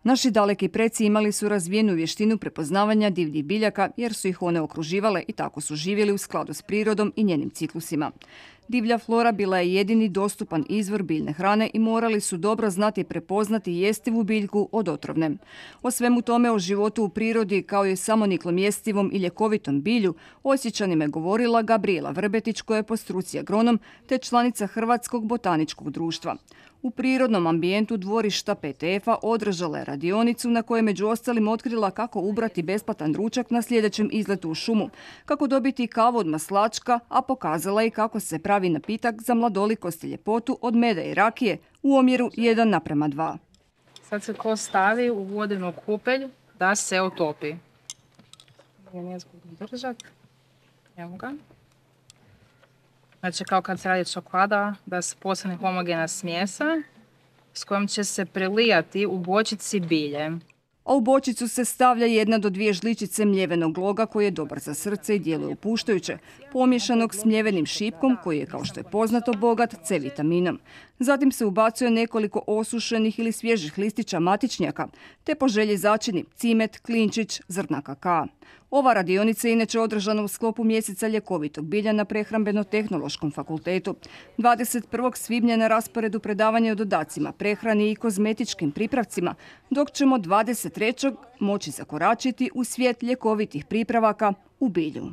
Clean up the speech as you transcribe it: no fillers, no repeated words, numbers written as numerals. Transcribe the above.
Naši daleki preci imali su razvijenu vještinu prepoznavanja divljih biljaka jer su ih one okruživale i tako su živjeli u skladu s prirodom i njenim ciklusima. Divlja flora bila je jedini dostupan izvor biljne hrane i morali su dobro znati prepoznati jestivu biljku od otrovne. O svemu tome, o životu u prirodi kao i samoniklom jestivom i ljekovitom bilju, Osječanima je govorila Gabrijela Vrbetić, koja je po struci agronom te članica Hrvatskog botaničkog društva. U prirodnom ambijentu dvorišta PTF-a održala je radionicu na kojoj je među ostalim otkrila kako ubrati besplatan ručak na sljedećem izletu u šumu, kako dobiti kavu od maslačka, a pokazala i kako se pravi napitak za mladolikost i ljepotu od meda i rakije u omjeru 1:2. Sad se ko stavi u vodenu kupelj da se otopi. Nije zgodno držati. Evo ga. Znači kao kad se radi čokolada, da se postane homogena smjesa s kojom će se prelijati u bočici bilje. A u bočicu se stavlja 1 do 2 žličice mljevenog loga koji je dobar za srce i djeluje opuštajuće, pomješanog s mljevenim šipkom koji je, kao što je poznato, bogat C vitaminom. Zatim se ubacuje nekoliko osušenih ili svježih listića matičnjaka, te po želji začini cimet, klinčić, zrna kakaa. Ova radionica je inače održana u sklopu mjeseca ljekovitog bilja na Prehrambeno-tehnološkom fakultetu. 21. svibnja na rasporedu predavanje o dodacima, prehrani i kozmetičkim pripravcima, dok ćemo 23. moći zakoračiti u svijet ljekovitih pripravaka u bilju.